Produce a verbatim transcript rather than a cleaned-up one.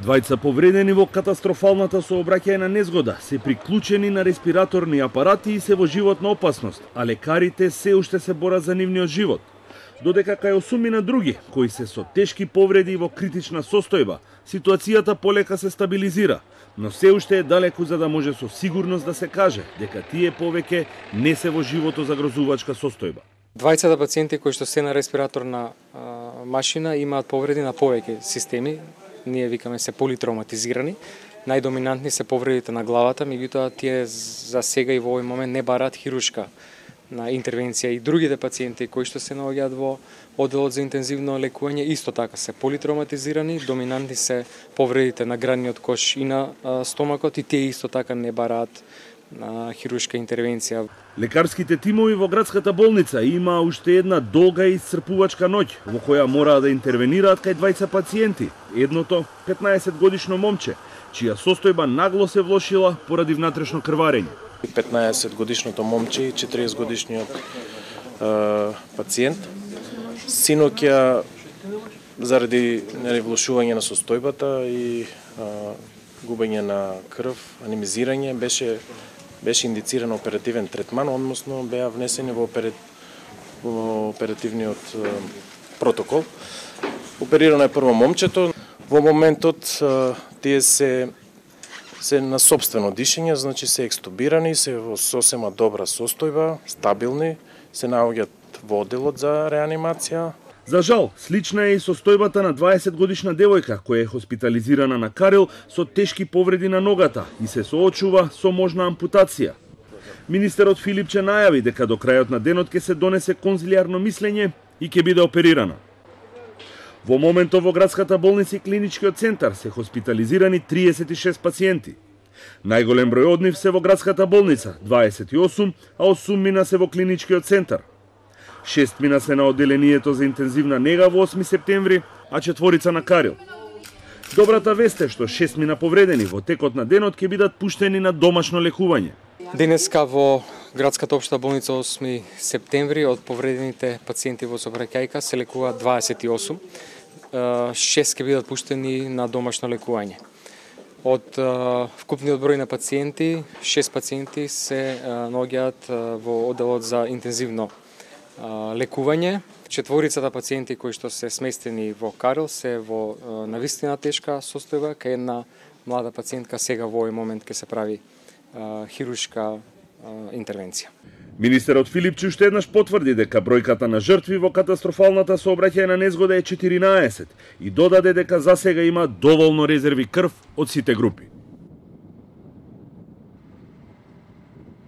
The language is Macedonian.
Двајца повредени во катастрофалната сообраќајна незгода се приклучени на респираторни апарати и се во животна опасност, а лекарите се уште се борат за нивниот живот. Додека кај осумина други, кои се со тешки повреди и во критична состојба, ситуацијата полека се стабилизира, но се уште е далеку за да може со сигурност да се каже дека тие повеќе не се во живото загрозувачка состојба. Двајцата пациенти кои што се на респираторна а, машина имаат повреди на повеќе системи, ние викаме се политравматизирани. Најдоминантни се повредите на главата, меѓутоа тие за сега и во овој момент не бараат хируршка на интервенција, и другите пациенти кои што се наоѓаат во одделот за интензивно лекување исто така се политравматизирани, доминантни се повредите на градниот кош и на а, стомакот, и тие исто така не бараат на хируршка интервенција. Лекарските тимови во градската болница има уште една долга и исцрпувачка ноќ во која мора да интервенираат кај двајца пациенти. Едното петнаесет годишно момче, чија состојба нагло се влошила поради внатрешно крварење. петнаесет годишното момче и четириесет годишниот е, пациент. Синоќа заради нели влошување на состојбата и е, губење на крв, анемизирање, беше беше индициран оперативен третман, односно беа внесени во, опера... во оперативниот е, протокол. Оперирано е прво момчето. Во моментот е, тие се се на сопствено дишење, значи се екстубирани, се во сосема добра состојба, стабилни, се наоѓаат во одделот за реанимација. За жал, слична е и состојбата на дваесет годишна девојка која е хоспитализирана на Карел со тешки повреди на ногата и се соочува со можна ампутација. Министерот Филипче најави дека до крајот на денот ќе се донесе конзилијарно мислење и ќе биде оперирана. Во моментот во градската болница и клиничкиот центар се хоспитализирани триесет и шест пациенти. Најголем број од нив се во градската болница, дваесет и осум, а осум мина се во клиничкиот центар. Шест мина се на одделението за интензивна нега во осми септември, а четворица на Карел. Добрата вест е што шест мина повредени во текот на денот ќе бидат пуштени на домашно лекување. Денеска во градската општа болница осми септември од повредените пациенти во сообраќајка се лекуваат дваесет и осум. шест ќе бидат пуштени на домашно лекување. Од вкупниот број на пациенти, шест пациенти се наоѓаат во одделот за интензивно лекување. Четворицата пациенти кои што се сместени во Карел се во навистина тешка состојба, кај една млада пациентка сега во овој момент ќе се прави хируршка интервенција. Министерот Филипче уште еднаш потврди дека бројката на жртви во катастрофалната сообраќајна незгода е четиринаесет и додаде дека засега има доволно резерви крв од сите групи.